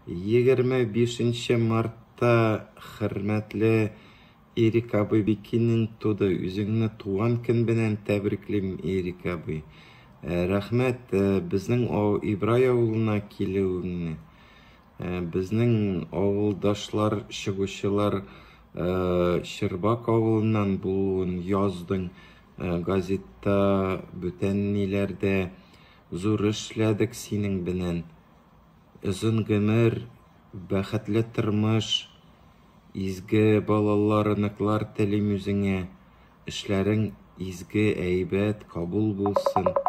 25 мартта хөрмәтле Ирек абый Бикинин туды. Үзеңне туган көн белән тәбриклим, Ирек абый. Рәхмәт безнең Ибрай авылына килүеңне. Безнең авылдашлар, чыгучылар Щербак авылыннан булуын яздың газетта, бүтән ниләрдә. Зур эшләдек синең белән. Озын гомер, бәхетле тормыш, изге балалар, оныклар телим үзеңә. Эшләрең изге, әйбәт, кабул булсын.